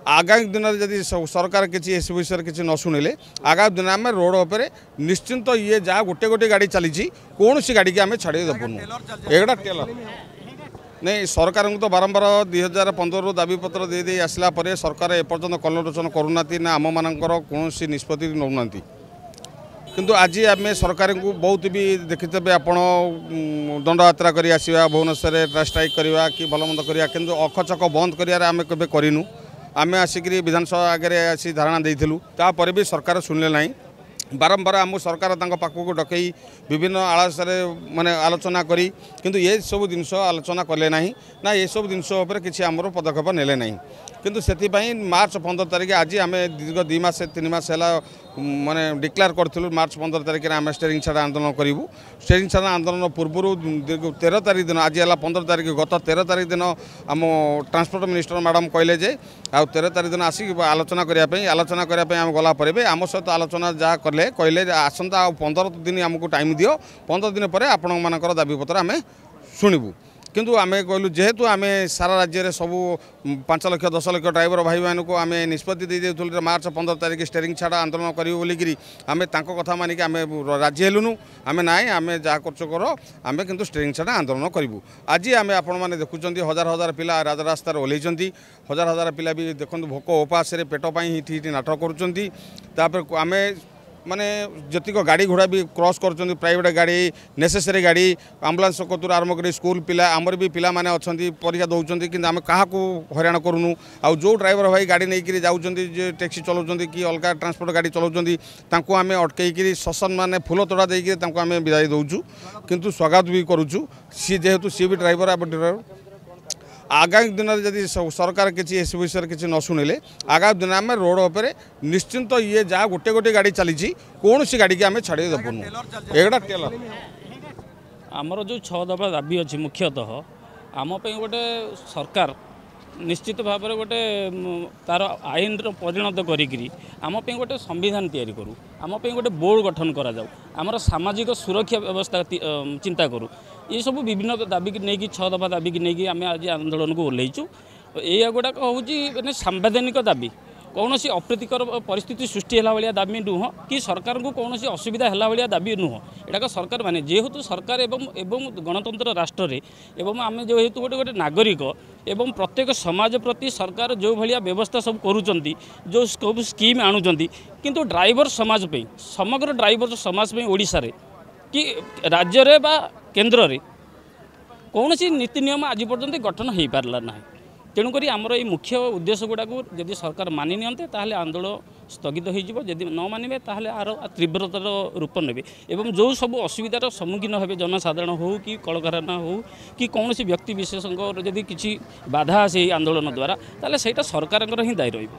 ଆଗାମୀ ଦିନରେ ଯଦି ସରକାର କିଛି ଏସବୁ ବିଷୟରେ କିଛି ନ ଶୁଣିଲେ, ଆଗାମୀ ଦିନରେ ଆମେ ରୋଡ଼ ଉପରେ ନିଶ୍ଚିନ୍ତ ଇଏ ଯାହା ଗୋଟେ ଗୋଟେ ଗାଡ଼ି ଚାଲିଛି, କୌଣସି ଗାଡ଼ିକି ଆମେ ଛାଡ଼ି ଦେବୁନୁ। ଏଗୁଡ଼ା ଟେଲର ନାଇଁ। ସରକାରଙ୍କୁ ତ ବାରମ୍ବାର 2015ରୁ ଦାବିପତ୍ର ଦେଇ ଦେଇ ଆସିଲା ପରେ ସରକାର ଏପର୍ଯ୍ୟନ୍ତ କର୍ଣ୍ଣରୋଚନ କରୁନାହାନ୍ତି ନା ଆମମାନଙ୍କର କୌଣସି ନିଷ୍ପତ୍ତି ନେଉନାହାନ୍ତି। କିନ୍ତୁ ଆଜି ଆମେ ସରକାରଙ୍କୁ ବହୁତ ବି ଦେଖିଥିବେ ଆପଣ, ଦଣ୍ଡଯାତ୍ରା କରି ଆସିବା, ଭୁବନେଶ୍ୱରରେ ଷ୍ଟ୍ରାଇକ୍ କରିବା କି ଭଲ ମନ୍ଦ କରିବା, କିନ୍ତୁ ଅଖଚକ ବନ୍ଦ କରିବାରେ ଆମେ କେବେ କରିନୁ। ଆମେ ଆସିକରି ବିଧାନସଭା ଆଗରେ ଆସି ଧାରଣା ଦେଇଥିଲୁ, ତାପରେ ବି ସରକାର ଶୁଣିଲେ ନାହିଁ। ବାରମ୍ବାର ଆମକୁ ସରକାର ତାଙ୍କ ପାଖକୁ ଡକେଇ ବିଭିନ୍ନ ଆଳସରେ ମାନେ ଆଲୋଚନା କରି, କିନ୍ତୁ ଏସବୁ ଜିନିଷ ଆଲୋଚନା କଲେ ନାହିଁ ନା ଏସବୁ ଜିନିଷ ଉପରେ କିଛି ଆମର ପଦକ୍ଷେପ ନେଲେ ନାହିଁ। କିନ୍ତୁ ସେଥିପାଇଁ ମାର୍ଚ୍ଚ 15 ତାରିଖ ଆଜି ଆମେ ଦୀର୍ଘ 2 ମାସ 3 ମାସ ହେଲା ମାନେ ଡିକ୍ଲେୟାର କରିଥିଲୁ, ମାର୍ଚ୍ଚ 15 ତାରିଖରେ ଆମେ ଷ୍ଟେରିଂ ଛାଡ଼ ଆନ୍ଦୋଳନ କରିବୁ। ଷ୍ଟେରିଂ ଛାଡ଼ ଆନ୍ଦୋଳନ ପୂର୍ବରୁ ଦୀର୍ଘ 13 ତାରିଖ ଦିନ, ଆଜି ହେଲା 15 ତାରିଖ, ଗତ 13 ତାରିଖ ଦିନ ଆମ ଟ୍ରାନ୍ସପୋର୍ଟ ମିନିଷ୍ଟର ମ୍ୟାଡ଼ାମ୍ କହିଲେ ଯେ ଆଉ 13 ତାରିଖ ଦିନ ଆସିକି ଆଲୋଚନା କରିବା ପାଇଁ। ଆଲୋଚନା କରିବା ପାଇଁ ଆମେ ଗଲା ପରେ ବି ଆମ ସହିତ ଆଲୋଚନା ଯାହା କଲେ, କହିଲେ ଯେ ଆସନ୍ତା ଆଉ 15 ଦିନ ଆମକୁ ଟାଇମ୍ ଦିଅ, 15 ଦିନ ପରେ ଆପଣମାନଙ୍କର ଦାବିପତ୍ର ଆମେ ଶୁଣିବୁ। କିନ୍ତୁ ଆମେ କହିଲୁ, ଯେହେତୁ ଆମେ ସାରା ରାଜ୍ୟରେ ସବୁ 5 ଲକ୍ଷ 10 ଲକ୍ଷ ଡ୍ରାଇଭର ଭାଇମାନଙ୍କୁ ଆମେ ନିଷ୍ପତ୍ତି ଦେଇଦେଉଥିଲୁ ଯେ ମାର୍ଚ୍ଚ 15 ତାରିଖ ଷ୍ଟେରିଂ ଛାଡ଼ ଆନ୍ଦୋଳନ କରିବୁ ବୋଲିକିରି, ଆମେ ତାଙ୍କ କଥା ମାନିକି ଆମେ ରାଜି ହେଲୁନୁ। ଆମେ ନାଇଁ, ଆମେ ଯାହା କରୁଛ କର, ଆମେ କିନ୍ତୁ ଷ୍ଟେରିଂ ଛାଡ଼ ଆନ୍ଦୋଳନ କରିବୁ। ଆଜି ଆମେ ଆପଣମାନେ ଦେଖୁଛନ୍ତି ହଜାର ହଜାର ପିଲା ରାଜରାସ୍ତାରେ ଓହ୍ଲେଇଛନ୍ତି। ହଜାର ହଜାର ପିଲା ବି ଦେଖନ୍ତୁ ଭୋକ ଉପାସରେ ପେଟ ପାଇଁ ଏଠି ଏଠି ନାଟକ କରୁଛନ୍ତି। ତାପରେ ଆମେ ମାନେ ଯେତିକ ଗାଡ଼ି ଘୋଡ଼ା ବି କ୍ରସ୍ କରୁଛନ୍ତି, ପ୍ରାଇଭେଟ୍ ଗାଡ଼ି, ନେସେସରୀ ଗାଡ଼ି, ଆମ୍ବୁଲାନ୍ସ କତୁରୁ ଆରମ୍ଭ କରି ସ୍କୁଲ ପିଲା, ଆମର ବି ପିଲାମାନେ ଅଛନ୍ତି, ପରୀକ୍ଷା ଦେଉଛନ୍ତି, କିନ୍ତୁ ଆମେ କାହାକୁ ହଇରାଣ କରୁନୁ। ଆଉ ଯେଉଁ ଡ୍ରାଇଭର ଭାଇ ଗାଡ଼ି ନେଇକରି ଯାଉଛନ୍ତି, ଯେ ଟ୍ୟାକ୍ସି ଚଲାଉଛନ୍ତି କି ଅଲଗା ଟ୍ରାନ୍ସପୋର୍ଟ ଗାଡ଼ି ଚଲାଉଛନ୍ତି, ତାଙ୍କୁ ଆମେ ଅଟକେଇକିରି ସସନ ମାନେ ଫୁଲ ତୋଡ଼ା ଦେଇକିରି ତାଙ୍କୁ ଆମେ ବିଦାୟ ଦେଉଛୁ, କିନ୍ତୁ ସ୍ୱାଗତ ବି କରୁଛୁ। ସିଏ ଯେହେତୁ ସିଏ ବି ଡ୍ରାଇଭର, ଆମ ଡ୍ରାଇଭର। ଆଗାମୀ ଦିନରେ ଯଦି ସରକାର କିଛି ଏସବୁ ବିଷୟରେ କିଛି ନ ଶୁଣିଲେ, ଆଗାମୀ ଦିନରେ ଆମେ ରୋଡ଼ ଉପରେ ନିଶ୍ଚିନ୍ତ ଇଏ ଯାହା ଗୋଟେ ଗୋଟେ ଗାଡ଼ି ଚାଲିଛି, କୌଣସି ଗାଡ଼ିକି ଆମେ ଛାଡ଼ି ଦେବୁନୁ। ଏଗୁଡ଼ା ଟେଲର। ଆମର ଯେଉଁ 6 ଦଫା ଦାବି ଅଛି, ମୁଖ୍ୟତଃ ଆମ ପାଇଁ ଗୋଟେ ସରକାର ନିଶ୍ଚିତ ଭାବରେ ଗୋଟେ ତାର ଆଇନର ପରିଣତ କରିକିରି ଆମ ପାଇଁ ଗୋଟେ ସମ୍ବିଧାନ ତିଆରି କରୁ, ଆମ ପାଇଁ ଗୋଟେ ବୋର୍ଡ଼ ଗଠନ କରାଯାଉ, ଆମର ସାମାଜିକ ସୁରକ୍ଷା ବ୍ୟବସ୍ଥା ଚିନ୍ତା କରୁ। ଏସବୁ ବିଭିନ୍ନ ଦାବିକି ନେଇକି, 6 ଦଫା ଦାବିକି ନେଇକି ଆମେ ଆଜି ଆନ୍ଦୋଳନକୁ ଓହ୍ଲେଇଛୁ। ଏଇଗୁଡ଼ାକ ହେଉଛି ମାନେ ସାମ୍ବିଧାନିକ ଦାବି, କୌଣସି ଅପ୍ରୀତିକର ପରିସ୍ଥିତି ସୃଷ୍ଟି ହେଲା ଭଳିଆ ଦାବି ନୁହଁ କି ସରକାରଙ୍କୁ କୌଣସି ଅସୁବିଧା ହେଲା ଭଳିଆ ଦାବି ନୁହଁ। ଏଟାକ ସରକାର ମାନେ ଯେହେତୁ ସରକାର ଏବଂ ଗଣତନ୍ତ୍ର ରାଷ୍ଟ୍ରରେ ଏବଂ ଆମେ ଯେହେତୁ ଗୋଟେ ଗୋଟେ ନାଗରିକ ଏବଂ ପ୍ରତ୍ୟେକ ସମାଜ ପ୍ରତି ସରକାର ଯେଉଁ ଭଳିଆ ବ୍ୟବସ୍ଥା ସବୁ କରୁଛନ୍ତି, ଯେଉଁ ସବୁ ସ୍କିମ୍ ଆଣୁଛନ୍ତି, କିନ୍ତୁ ଡ୍ରାଇଭର ସମାଜ ପାଇଁ, ସମଗ୍ର ଡ୍ରାଇଭର ସମାଜ ପାଇଁ ଓଡ଼ିଶାରେ କି ରାଜ୍ୟରେ ବା କେନ୍ଦ୍ରରେ କୌଣସି ନୀତି ନିୟମ ଆଜି ପର୍ଯ୍ୟନ୍ତ ଗଠନ ହୋଇପାରିଲା ନାହିଁ। ତେଣୁକରି ଆମର ଏଇ ମୁଖ୍ୟ ଉଦ୍ଦେଶ୍ୟ ଗୁଡ଼ାକୁ ଯଦି ସରକାର ମାନି ନିଅନ୍ତେ, ତାହେଲେ ଆନ୍ଦୋଳନ ସ୍ଥଗିତ ହୋଇଯିବ। ଯଦି ନ ମାନିବେ, ତାହେଲେ ଆର ତୀବ୍ରତର ରୂପ ନେବେ ଏବଂ ଯେଉଁ ସବୁ ଅସୁବିଧାର ସମ୍ମୁଖୀନ ହେବେ ଜନସାଧାରଣ ହେଉ କି କଳକାରଖାନା ହେଉ କି କୌଣସି ବ୍ୟକ୍ତି ବିଶେଷଙ୍କର ଯଦି କିଛି ବାଧା ଆସେ ଏଇ ଆନ୍ଦୋଳନ ଦ୍ୱାରା, ତାହେଲେ ସେଇଟା ସରକାରଙ୍କର ହିଁ ଦାୟୀ ରହିବ।